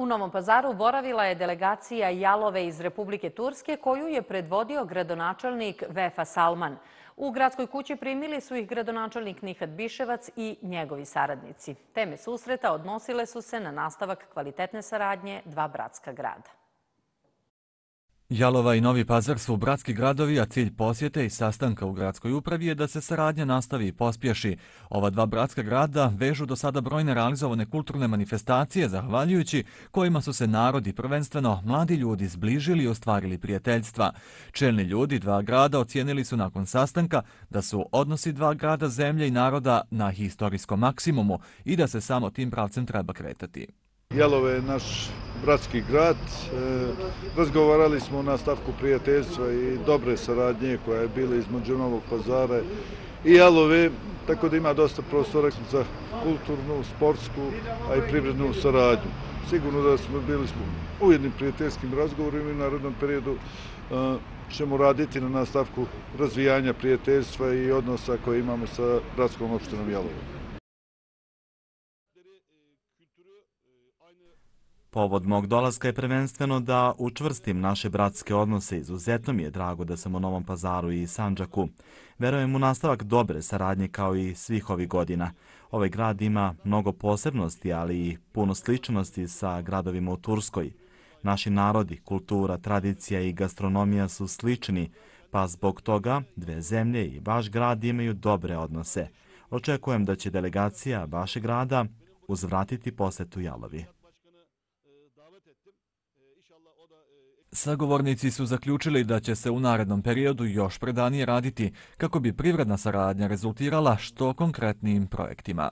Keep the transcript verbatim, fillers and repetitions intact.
U Novom Pazaru boravila je delegacija Jalove iz Republike Turske koju je predvodio gradonačelnik Vefa Salman. U gradskoj kući primili su ih gradonačelnik Nihat Biševac i njegovi saradnici. Teme susreta odnosile su se na nastavak kvalitetne saradnje dva bratska grada. Jalova i Novi Pazar su bratski gradovi, a cilj posjete i sastanka u gradskoj upravi je da se saradnja nastavi i pospješi. Ova dva bratska grada vežu do sada brojne realizovane kulturne manifestacije, zahvaljujući kojima su se narodi, prvenstveno mladi ljudi, zbližili i ostvarili prijateljstva. Čelni ljudi dva grada ocijenili su nakon sastanka da su odnosi dva grada, zemlje i naroda na historijskom maksimumu i da se samo tim pravcem treba kretati. Jalova je naš bratski grad. Razgovarali smo o nastavku prijateljstva i dobre saradnje koja je bila između Novog Pazara i Jalove, tako da ima dosta prostora za kulturnu, sportsku, a i privrednu saradnju. Sigurno da smo bili u jednim prijateljskim razgovorima i u narednom periodu ćemo raditi na nastavku razvijanja prijateljstva i odnosa koje imamo sa gradskom opštinom Jalovom. Povod mog dolaska je prvenstveno da učvrstim naše bratske odnose. Izuzetno mi je drago da sam u Novom Pazaru i Sandžaku. Verujem u nastavak dobre saradnje kao i svih ovih godina. Ovaj grad ima mnogo posebnosti, ali i puno sličnosti sa gradovima u Turskoj. Naši narodi, kultura, tradicija i gastronomija su slični, pa zbog toga dve zemlje i vaš grad imaju dobre odnose. Očekujem da će delegacija vašeg grada uzvratiti posetu Jalovi. Sagovornici su zaključili da će se u narednom periodu još predanije raditi kako bi privredna saradnja rezultirala što konkretnijim projektima.